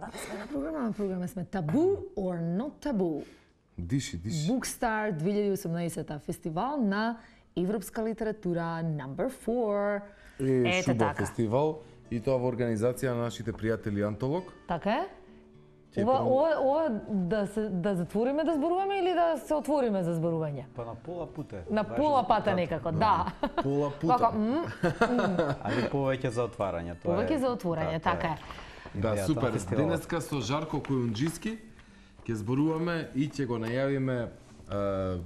На програма сме Taboo or Not Taboo. Диши. Bookstar 2018 фестивал на европска литература number 4. Шуба фестивал и тоа во организација на нашите пријатели Антолог. Така е? Ова да затвориме да зборуваме или да се отвориме за зборување? Па на пола пута. На пола пата некако, да. Пола пута. Али повеќе за отварање, тоа е. Повеќе за отворање, така е. Да, супер. Денеска со Жарко Којунџиски ќе зборуваме и ќе го најавиме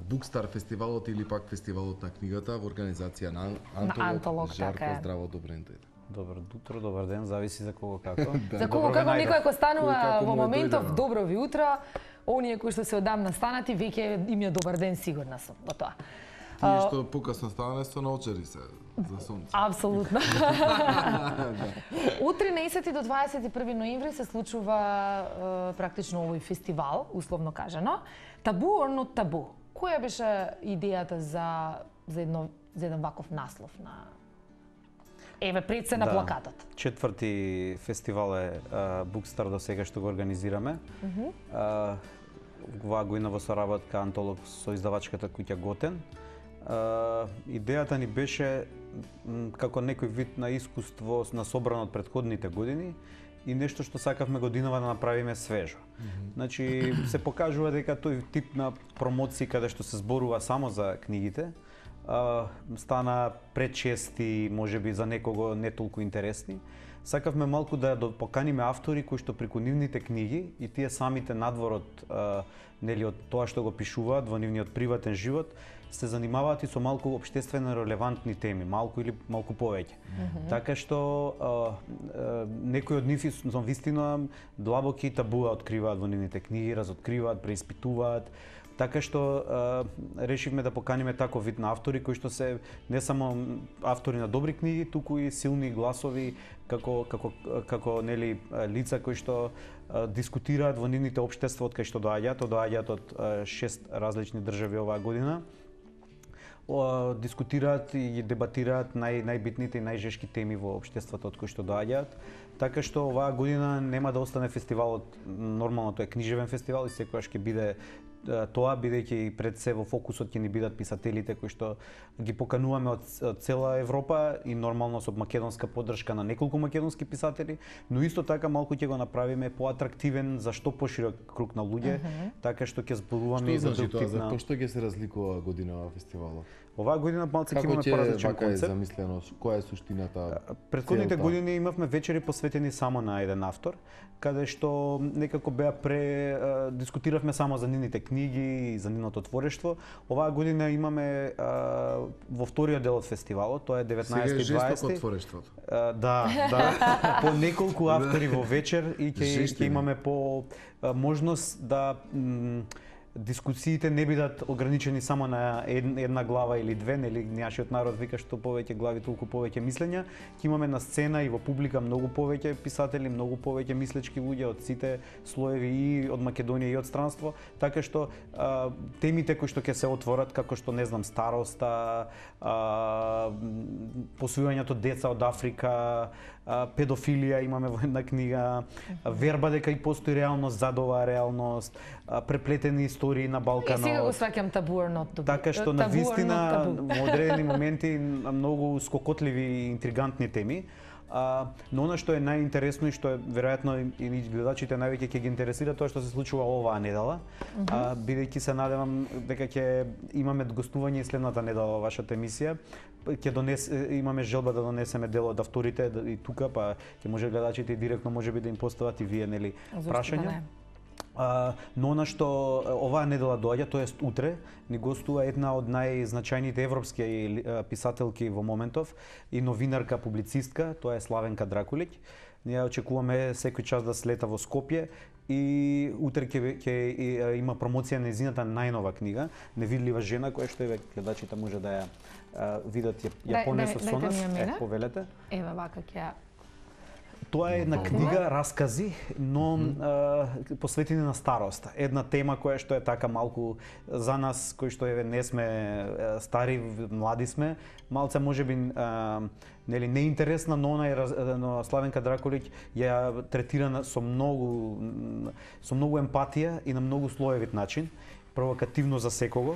Букстар фестивалот или пак фестивалот на книгата во организација на Антолог. Жарко, здраво, добро ден. Добро утро, добар ден, зависи за кого како. За кого како некој ако станува во моментов добро ви утро, оние кои што се одамна станати веќе им е добар ден, сигурна сум во тоа. Тие што покасно станале со наочари се за сонце. Апсолутно. Од 13 до 21 ноември се случува практично овој фестивал, условно кажано. Taboo or Not Taboo. Која беше идејата за еден ваков наслов на еве пред се на плакатот? Четврти фестивал е Букстар до сега што го организираме. Оваа година во соработка Антолог со издавачката куќа Готен. Идејата ни беше како некој вид на искуство на собрано од претходните години и нешто што сакавме годинава да направиме свежо. Значи се покажува дека тој тип на промоции каде што се зборува само за книгите стана пречести, можеби за некого не толку интересни. Сакавме малку да поканиме автори кои што преку нивните книги и тие самите надвор од нели од тоа што го пишуваат во нивниот приватен живот се занимаваат и со малку општествено релевантни теми, малку или малку повеќе. Така што некои од нив со вистина длабоки табуа откриваат во нивните книги, разоткриваат, преиспитуваат. Така што решивме да поканиме таков вид на автори кои што се не само автори на добри книги, туку и силни гласови како нели лица кои што дискутираат во нивните општества од кај што доаѓаат од 6 различни држави оваа година. Дискутираат и дебатираат најбитните и најжешки теми во општеството од кои што доаѓаат. Така што оваа година нема да остане фестивалот, нормално тоа е книжевен фестивал и секогаш ќе биде тоа, бидејќи и пред се во фокусот ќе ни бидат писателите кои што ги покануваме од цела Европа и нормално со македонска поддршка на неколку македонски писатели, но исто така малку ќе го направиме поатрактивен за што поширок круг на луѓе, така што ќе зборуваме и за друг тип на... Што ќе се разликува година оваа фестивалот? Оваа година малку ќе имаме поразличен концепт. Како ќе замислено, која е суштината? Предходните години имавме вечери посветени само на еден автор, каде што некако беа дискутиравме само за нивните книги и за нивното творештво. Оваа година имаме во вториот дел од фестивалот, тоа е 19 и 20. Сега е жестоко творештвото. Да. По неколку автори во вечер и ќе имаме по можност да дискусиите не бидат ограничени само на една глава или две, нели нашиот народ вика што повеќе глави толку повеќе мислења. Ќе имаме на сцена и во публика многу повеќе писатели, многу повеќе мислечки луѓе од сите слоеви и од Македонија и од странство, така што темите кои што ќе се отворат како што не знам староста, посвојањето деца од Африка, педофилија имаме во една книга, верба дека и постои реалност зад оваа реалност, преплетени истории на Балканот. Сега го сваќам Taboo or Not Taboo. Така што на вистина во одредени моменти многу скокотливи и интригантни теми. Но она што е најинтересно и што е веројатно и гледачите највеќе ќе ги интересира тоа што се случува оваа недела, бидејќи се надевам дека ќе имаме гостување и следната недела во вашата емисија. Имаме желба да донесеме дел од авторите и тука, па ќе може гледачите и директно можеби да им постават и вие нели прашања. Но она што оваа недела доаѓа, тоест утре, ни гостува една од најзначајните европски писателки во моментов и новинарка, публицистка, тоа е Славенка Дракулиќ. Ние очекуваме секој час да слета во Скопје и утре ќе има промоција на нејзината најнова книга, Невидлива жена, која што гледачите може да ја видат, ја понесат со нас. Повелете. Повелете. Еве вака ќе Тоа е една книга раскази, но посветени на старост. Една тема која што е така малку за нас кои што еве не сме стари, млади сме, малце можеби нели неинтересна, но но Славенка Дракулиќ ја третира со многу емпатија и на многу слоевит начин, провокативно за секого.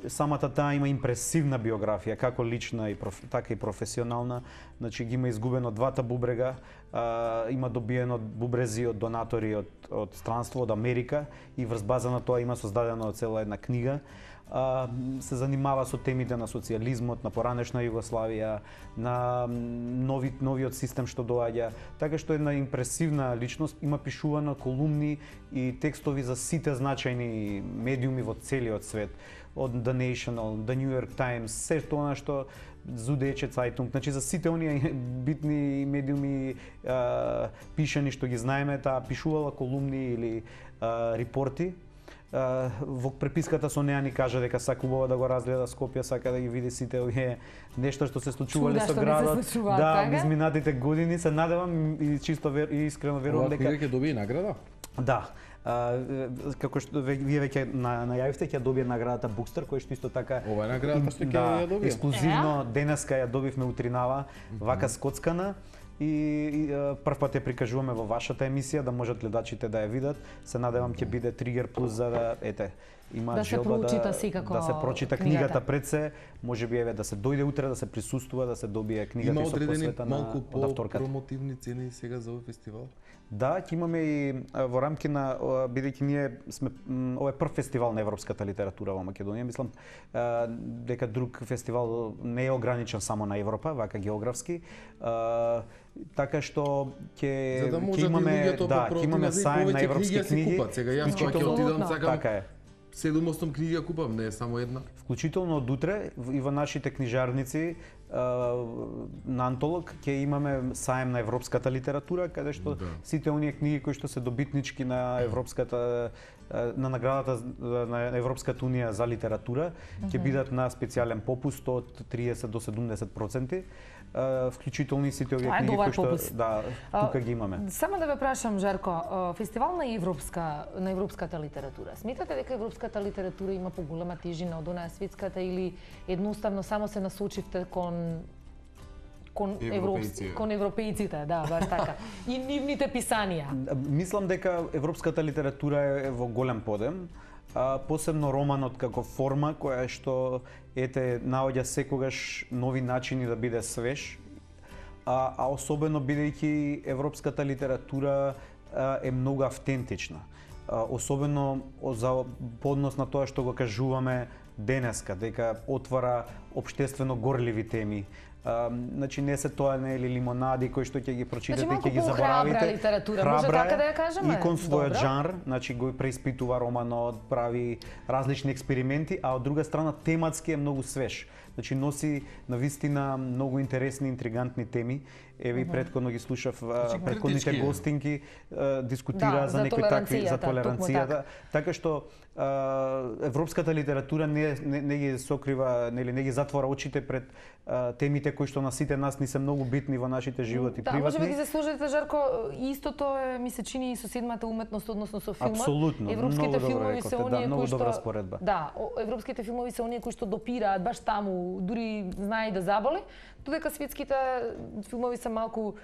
Самата таа има импресивна биографија, како лична така и професионална. Значи ги има изгубено двата бубрега, има добиено бубрези од донатори од странство, од Америка и врз база на тоа има создадена цела една книга. Се занимава со темите на социјализмот, на поранешна Југославија, на новиот систем што доаѓа, така што една импресивна личност, има пишувано колумни и текстови за сите значајни медиуми во целиот свет, од The National, The New York Times, се тоа што Süddeutsche Zeitung, значи за сите оние битни медиуми пишани што ги знаеме, таа пишувала колумни или репорти. Во преписката со неа ни кажа дека сакувала да го разгледа Скопје, сака да ги види сите овие нешта што се случувале со градот. Да, изминатите години, се надевам и чисто и искрено верувам дека ќе добие награда. Да. Како што вие веќе најавивте, ќе добие наградата Букстар, која што исто така ова е наградата што ќе ја добие. Ексклузивно денеска ја добивме утринава, вака скоцкана. И прв пат ја прикажуваме во вашата емисија, да можат гледачите да ја видат. Се надевам ќе биде тригер плюс за да има желба да се прочита книгата пред се, можеби еве да се дојде утре да се присуствува, да се добие книгата и со посвета на авторката. Малку промотивни цени сега за овој фестивал? Да, ќе имаме и во рамки на, бидејќи ние сме, ова е прв фестивал на европската литература во Македонија, мислам дека друг фестивал не е ограничен само на Европа, вака географски. Така што ќе имаме сајм на европски книги. Сега јас ќе отидам сакам 7-8 книги ја купам, не е само една. Вклучително од утре и во нашите книжарници на Антолог ќе имаме сајм на европската литература, каде што сите оние книги кои што се добитнички на европската на наградата на Европската унија за литература ќе бидат на специјален попуст од 30 до 70%. Вклучително и сите овие книги кои што тука ги имаме. Само да ве прашам, Жарко, фестивал на европската литература. Сметате дека европската литература има поголема тежина од онаа светската или едноставно само се насочивте кон европејците, да, баш така. И нивните писанија. Мислам дека европската литература е во голем подем. Посебно романот како форма која што наоѓа секогаш нови начини да биде свеж, а особено бидејќи европската литература е многу автентична. Особено за поднос на тоа што го кажуваме денеска, дека отвара општествено горливи теми. Значи не се тоа не е лимонади кои што ќе ги прочитате и ќе ги заборавите. Може така да ја кажеме? И кон својот жанр, значи го преиспитува романот, прави различни експерименти, а од друга страна тематски е многу свеж. Значи носи навистина многу интересни, интригантни теми. Еве претходно ги слушав претходните гостинки дискутира за некои такви за толеранцијата, така што европската литература не ги сокрива, нели не ги затвора очите пред темите кои што на сите нас ни се многу битни во нашите животи приватни. Да, можеби ги се сложите, Жарко, истото е, ми се чини и со седмата уметност, односно со филмот. Апсолутно. Европските филмови се оние кои што добра споредба. Да, европските филмови се оние кои што допираат баш таму, дури знае и да заболи, додека светските филмови се малку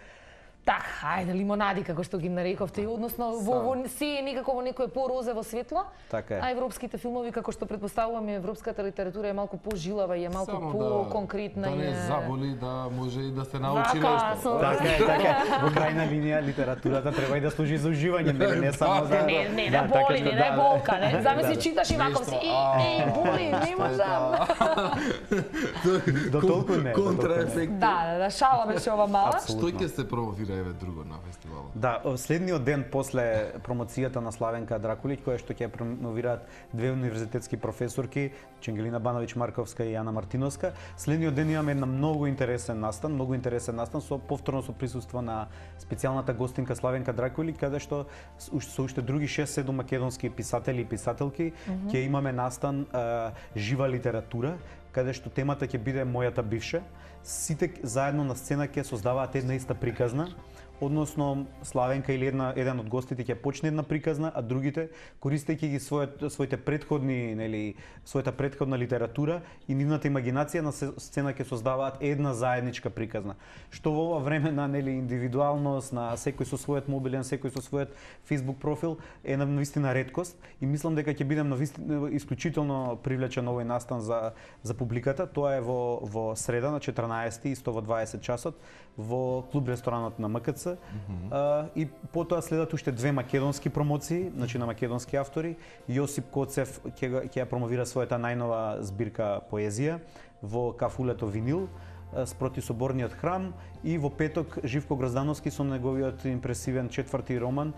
ајде, лимонади, како што ги нарековте, односно се е некако во некое по-розево светло, а европските филмови, како што предпоставуваме, европската литература е малку по-жилава и е малку по-конкретна. Да не заболи, да може и да се научи нешто. Така, во крајна линија литературата треба и да служи за уживање, не само за... Не да боли, не да болка, не? Замисли, читаш и ваков си, боли, не можам. До толку не. Контраефект. Да, шала беше ова мала. Што ќе се промовира еве друго на фестивалот? Да, следниот ден после промоцијата на Славенка Дракулиќ, која што ќе промовираат две универзитетски професорки, Ангелина Бановиќ Марковска и Јана Мартиновска, следниот ден имаме една многу интересен настан со повторно со присуство на специјалната гостинка Славенка Дракулиќ, каде што со уште други 6-7 македонски писатели и писателки ќе имаме настан жива литература, каде што темата ќе биде мојата бивша. Сите заедно на сцена ќе создаваат една иста приказна, односно Славенка или еден од гостите ќе почне една приказна, а другите користејќи ги своите претходни, нели, својата претходна литература и нивната имагинација на сцена ќе создаваат една заедничка приказна. Што во ова време на, нели, индивидуалност, на секој со својот мобилен, секој со својот Facebook профил е навистина реткост и мислам дека ќе бидам навистина исклучително привлечен овој настан за публиката. Тоа е во среда на 14 исто во 20 часот во клуб ресторанот на МКЦ. И потоа следат уште две македонски промоции, значи на македонски автори. Јосип Коцев ќе ја промовира својата најнова збирка поезија во Кафулето винил спроти Соборниот храм и во петок Живко Гроздановски со неговиот импресивен четврти роман,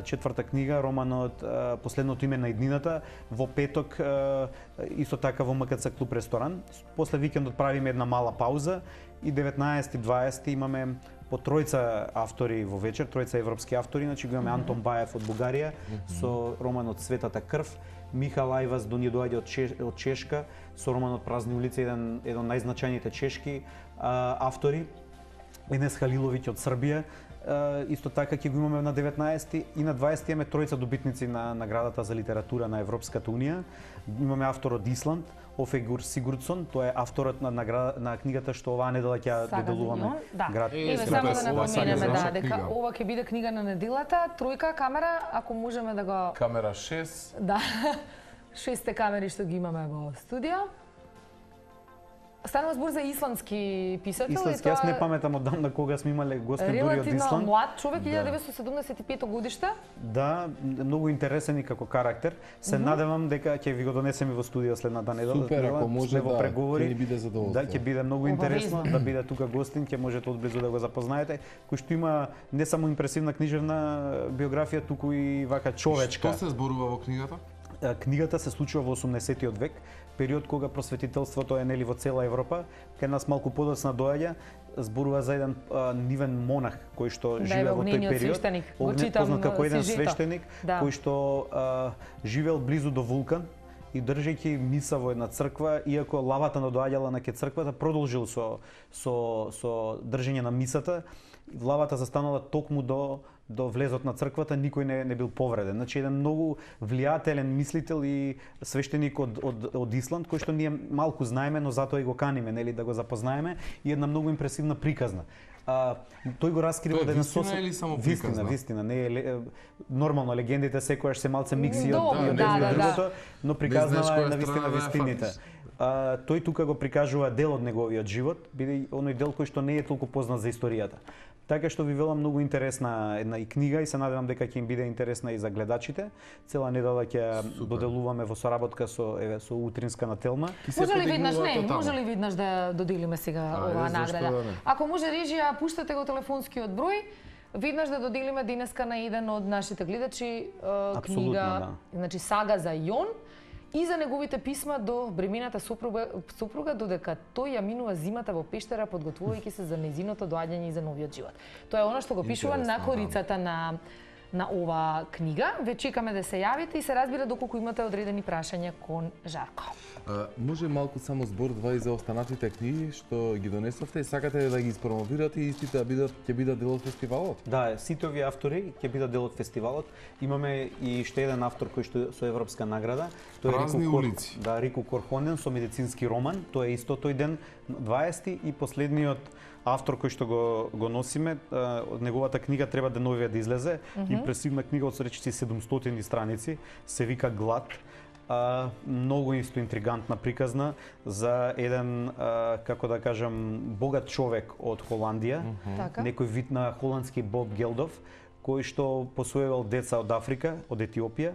четврта книга, романот Последното име на иднината, во петок исто така во МКЦ клуб ресторан. После викендот правиме една мала пауза и 19-20 имаме по тројца автори во вечер, тројца европски автори, значи го имаме Антон Баев од Бугарија со романот Светата крв, Михал Ајваз ни доаѓа од Чешка со романот Празни улици, еден од најзначајните чешки автори, Енес Халиловиќ од Србија, исто така ќе го имаме на 19 и на 20 имаме тројца добитници на наградата за литература на Европската унија. Имаме автор од Исланд, Офегур Сигурдсон, тоа е авторот на книгата што оваа недела ќе деделуваме. Град. Еве само да напоменеме дека ова ќе биде книга на неделата, тројка камера, ако можеме да го камера 6. Да. 6 камери што ги имаме во студио. Станува збор за исландски писател. Исландски, јас не паметам одамна кога сме имале гостин дури од Исланд. Релативно млад човек, 1975 годиште. Да, многу интересен и како карактер. Се надевам дека ќе ви го донесеме во студио следната недела. Супер, ако може во преговори. Ќе ни биде задоволство. Да, ќе биде многу интересно да биде тука гостин, ќе можете одблизу да го запознаете, кој што има не само импресивна книжевна биографија, туку и вака човечка. Што се зборува во книгата? Книгата се случува во 18-тиот век, период кога просветителството е нели во цела Европа, кај нас малку подоцна доаѓа, зборува за еден нивен монах кој што живеел во тој период, познат како еден свештеник, кој што живеел близу до вулкан и држејќи миса во една црква, иако лавата надоаѓала на ке црквата, продолжил со држење на мисата. Лавата застанала токму до влезот на црквата, никој не бил повреден. Значи еден многу влијателен мислител и свештеник од Исланд, кој што ние малку знаеме, но затоа и го каниме, нели, да го запознаеме, и една многу импресивна приказна. Тој го раскрива да е вистина или само приказна? Вистина, не е нормално легендите секогаш се малце микси од другото, но приказнава е на вистина вистините. Тој тука го прикажува дел од неговиот живот, биде оној дел кој што не е толку познат за историјата. Така што ви велам многу интересна една и книга и се надевам дека ќе им биде интересна и за гледачите. Цела недела ќе доделуваме во соработка со утринска на Телма. Може ли виднаш да доделиме сега оваа награда? Ако може режија, пуштате го телефонскиот број. Виднаш да доделиме денеска на еден од нашите гледачи книга, значи Сага за Јон, и за неговите писма до бремената супруга, додека тој ја минува зимата во пештера, подготвувајќи се за нејзиното доаѓање и за новиот живот. Тоа е она што го пишува на корицата на ова книга. Ве чекаме да се јавите и се разбира доколку имате одредени прашања кон Жарко. Може малку само збор два и за останатите книги што ги донесовте и сакате да ги испромовирате и истите ќе бидат дел од фестивалот? Да, сите овие автори ќе бидат дел од фестивалот. Имаме и уште еден автор кој што со европска награда. Тоа е Празни улици. Да, Рико Корхонен со медицински роман. Тоа е исто тој ден 20 и последниот автор кој што го носиме, од неговата книга треба деновија да излезе. Импресивна книга од речиси 700 страници, се вика Глад. Многу исто интригантна приказна за еден, како да кажам, богат човек од Холандија, некој вид на холандски Боб Гелдов, кој што посвојувал деца од Африка, од Етиопија.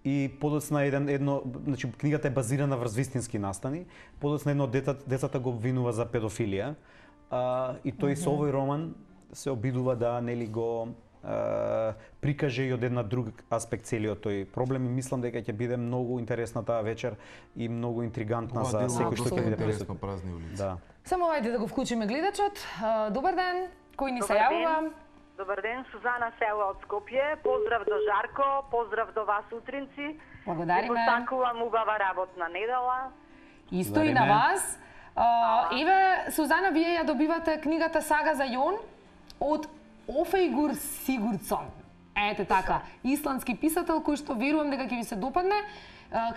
И подоцна значи книгата е базирана врз вистински настани. Подоцна едно децата го обвинува за педофилија. И тој со овој роман се обидува да нели го прикаже и од една друг аспект целиот тој проблем и мислам дека ќе биде многу интересна таа вечер и многу интригантна за секој што ќе биде присутен. Празни улици. Да. Само ајде да го вклучиме гледачот. Добар ден. Кој ни се јавува? Добар ден, Сузана Села од Скопје. Поздрав до Жарко, поздрав до вас утринци. Благодариме. И посакувам убава работна недела. Исто и на вас. Еве, Сузана, вие ја добивате книгата Сага за Јон од Офејгур Сигурдсон. Ете така, исландски писател кој што верувам дека ќе ви се допадне.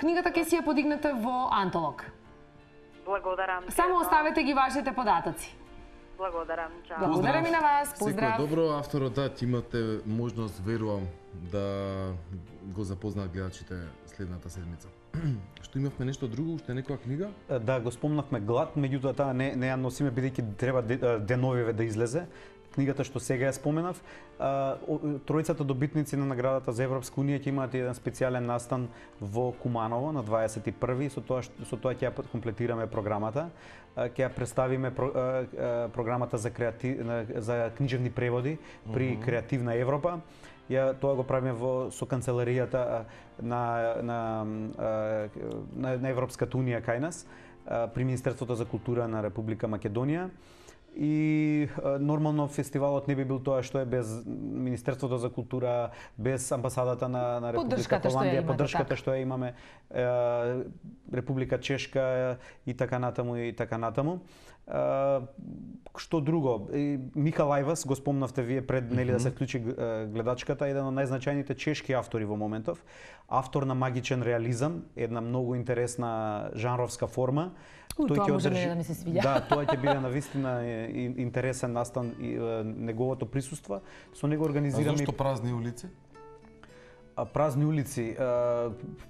Книгата ќе си ја подигнете во Антолог. Благодарам. Само оставете ги вашите податоци. Благодарам, чао. Благодарам и на вас. Поздрав. Секој добро, авторот, да, имате можност, верувам, да го запознаат гледачите следната седмица. Што имавме нешто друго, уште некоја книга? Да, го спомнавме Глад, меѓутоа таа не ја носиме бидејќи треба деновиве да излезе. Книгата што сега ја споменав, тројцата добитници на наградата за Европска унија ќе имаат еден специјален настан во Куманово на 21-ви, со тоа ќе ја комплетираме програмата. Ќе ја представиме програмата за книжевни преводи при Креативна Европа. Тоа го правиме со канцеларијата на Европската унија кај нас, при Министерството за култура на Република Македонија. И нормално фестивалот не би бил тоа што е без Министерството за култура, без амбасадата на Република Холандија, поддршката што ја имаме, Република Чешка и така натаму. Што друго? Михал Ајвас, го спомнавте вие пред нели да се вклучи гледачката, еден од најзначајните чешки автори во моментов, автор на магичен реализам, една многу интересна жанровска форма. Тоа може да ми се свиѓа. Да, тоа ќе биде навистина интересен настан и неговото присуство. Со него организираме. А зошто празни улици? Празни улици,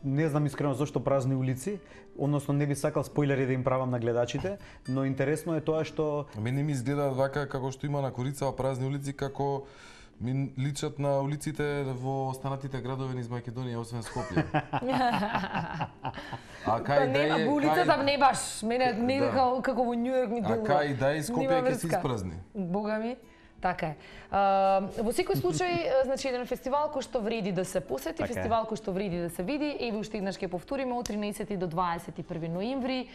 не знам искрено зошто празни улици, односно не би сакал спойлери да им правам на гледачите, но интересно е тоа што Мене ми изгледа вака како што има на Корицава празни улици, како ми личат на улиците во останатите градови низ Македонија, освен Скопје. А кај да е улицата не баш, мене не како во Њујорк ми делува. А кај да е Скопје ќе се испразни. Бога ми. Така е. Во секој случај, значи еден фестивал кој што вреди да се посети, фестивал кој што вреди да се види, еве уште еднаш ќе повториме од 13 до 21 ноември.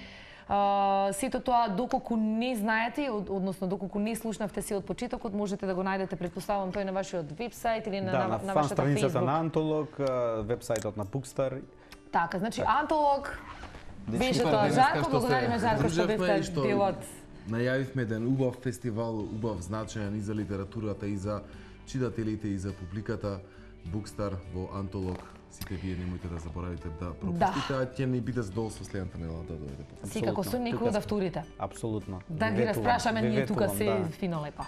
Сето тоа доколку не знаете, односно доколку не слушнавте се од почетокот, можете да го најдете, претпоставам, тој на вашиот вебсајт или на вашата фан страницата Facebook. на Антолог, вебсајтот на Bookstart. Така, значи Антолог беше тоа Жарко, благодариме Жарко што бевте дел од најавивме еден убав фестивал, убав значаен и за литературата, и за читателите, и за публиката. Bookstart во Антолог. Сите вие немојте да заборавите да пропустите, а ќе ни биде задоволство следната недела да дојдете. Секако со некој од авторите. Апсолутно. Да ги распрашаме ние тука се фино лепо.